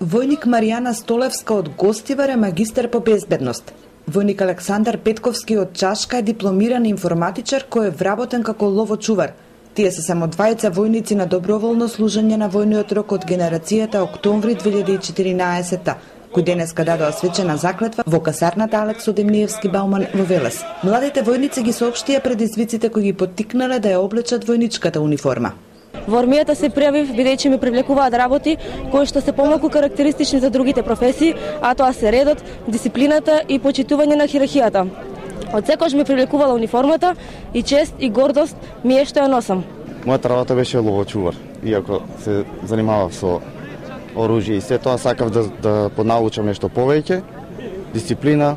Војник Маријана Столевска од Гостивар е магистар по безбедност. Војник Александар Петковски од Чашка е дипломиран информатичар кој е вработен како ловочувар. Тие се само двајца војници на доброволно служење на војниот рок од генерацијата октомври 2014 кој денеска дадоа свечена заклетва во касарната Алекс Одемниевски Бауман во Велес. Младите војници ги соопштија предизвиците кои ги поттикнале да ја облечат војничката униформа. Во армијата се пријавив бидејќи ми привлекуваат работи кои што се помалку карактеристични за другите професии, а тоа се редот, дисциплината и почитување на хиерархијата. Од секојаш ми привлекувала униформата и чест и гордост ми е што ја носам. Мојата работа беше ловочувар, иако се занимавав со оружје и се тоа, сакав да понаучам нешто повеќе, дисциплина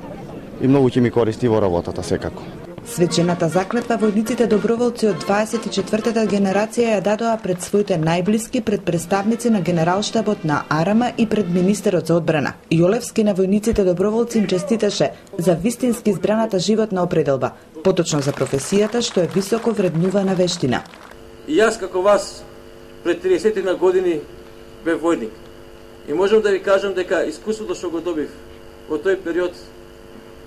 и многу ќе ми користи во работата секако. Свечената заклетва војниците доброволци од 24-та генерација ја дадоа пред своите најблиски, пред представници на генералштабот на Арама и пред министерот за одбрана. Јолевски на војниците доброволци им честиташе за вистински избраната животна определба, поточно за професијата што е високо вреднувана вештина. И јас како вас пред 30 години бев војник. И можам да ви кажам дека искуството што го добив во тој период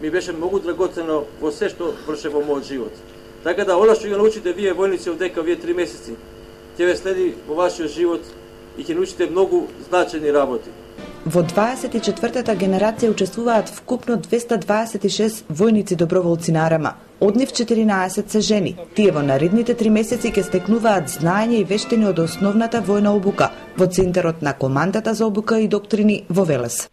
ми беше многу драгоцено во се што вршев во мојот живот. Така да она што ја научите вие војници овдека овие 3 месеци, ќе ве следи во вашиот живот и ќе научите многу значајни работи. Во 24-та генерација учествуваат вкупно 226 војници доброволци на Арама. Од нив 14 се жени. Тие во наредните 3 месеци ќе стекнуваат знаење и вештини од основната војна обука во центарот на командата за обука и доктрини во Велес.